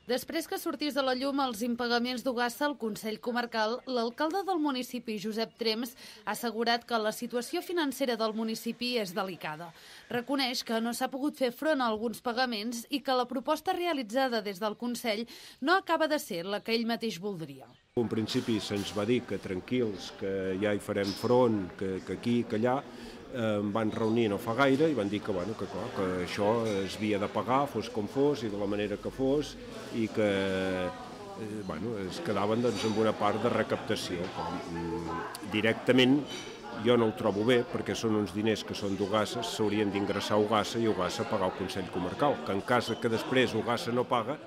Després que sortís de la llum els impagaments d'Ogassa al Consell Comarcal, l'alcalde del municipi, Josep Trems, ha assegurat que la situació financera del municipi és delicada. Reconeix que no s'ha pogut fer front a alguns pagaments i que la proposta realitzada des del Consell no acaba de ser la que ell mateix voldria. En principi se'ns va dir que tranquils, que ja hi farem front, que aquí, que allà. Em van reunir no fa gaire i van dir que això es havia de pagar, fos com fos i de la manera que fos, i que es quedaven amb una part de recaptació. Directament jo no ho trobo bé, perquè són uns diners que són d'Ogassa, s'haurien d'ingressar a Ogassa i Ogassa pagar al Consell Comarcal, que en cas que després Ogassa no paga,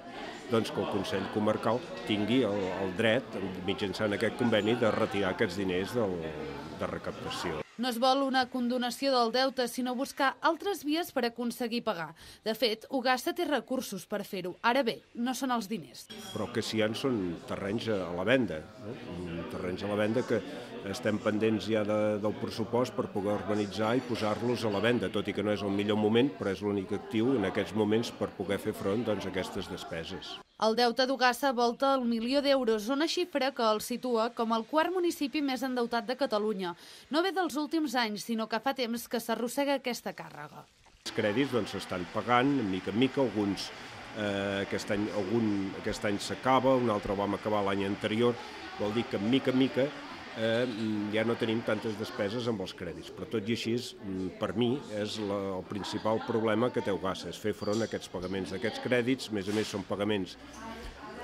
doncs que el Consell Comarcal tingui el dret, mitjançant aquest conveni, de retirar aquests diners de recaptació. No es vol una condonació del deute, sinó buscar altres vies per aconseguir pagar. De fet, Ogassa té recursos per fer-ho. Ara bé, no són els diners. Però que si hi ha són terrenys a la venda, terrenys a la venda que estem pendents ja del pressupost per poder urbanitzar i posar-los a la venda, tot i que no és el millor moment, però és l'únic actiu en aquests moments per poder fer front a aquestes despeses. El deute d'Ogassa volta el 1.000.000 d'euros, una xifra que el situa com el quart municipi més endeutat de Catalunya. No ve dels últims anys, sinó que fa temps que s'arrossega aquesta càrrega. Els crèdits s'estan pagant, mica en mica, alguns aquest any s'acaba, un altre el vam acabar l'any anterior, vol dir que mica en mica ja no tenim tantes despeses amb els crèdits, però tot i així, per mi, és el principal problema que té Ogassa, és fer front a aquests pagaments d'aquests crèdits. A més són pagaments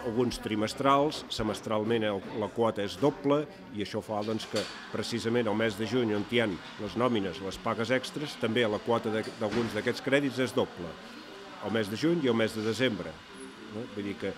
alguns trimestrals, semestralment la quota és doble i això fa que precisament al mes de juny, on hi ha les nòmines, les pagues extres, també la quota d'alguns d'aquests crèdits és doble, al mes de juny i al mes de desembre. Vull dir que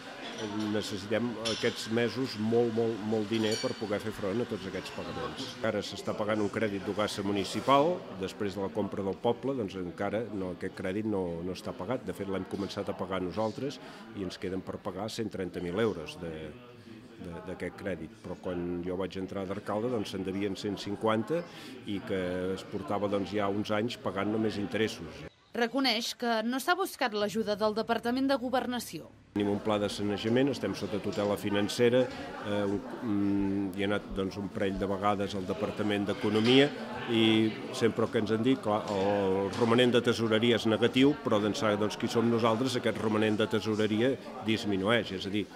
necessitem aquests mesos molt diner per poder fer front a tots aquests pagaments. Ara s'està pagant un crèdit d'Ogassa municipal, després de la compra del poble, doncs encara aquest crèdit no està pagat. De fet, l'hem començat a pagar nosaltres i ens queden per pagar 130.000 euros d'aquest crèdit, però quan jo vaig entrar d'alcalde se'n devien 150 i que es portava ja uns anys pagant només interessos. Reconeix que no s'ha buscat l'ajuda del Departament de Governació. Tenim un pla de sanejament, estem sota tutela financera, hi ha anat un parell de vegades al Departament d'Economia i sempre que ens han dit, clar, el romanent de tesoreria és negatiu, però d'ençà qui som nosaltres aquest romanent de tesoreria disminueix, és a dir,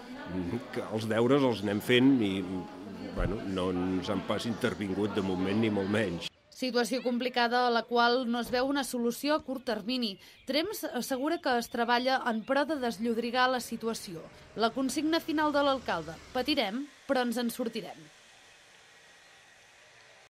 que els deures els anem fent i no ens han pas intervingut de moment ni molt menys. Situació complicada a la qual no es veu una solució a curt termini. Trems assegura que es treballa en pro de desllodrigar la situació. La consigna final de l'alcalde: patirem, però ens en sortirem.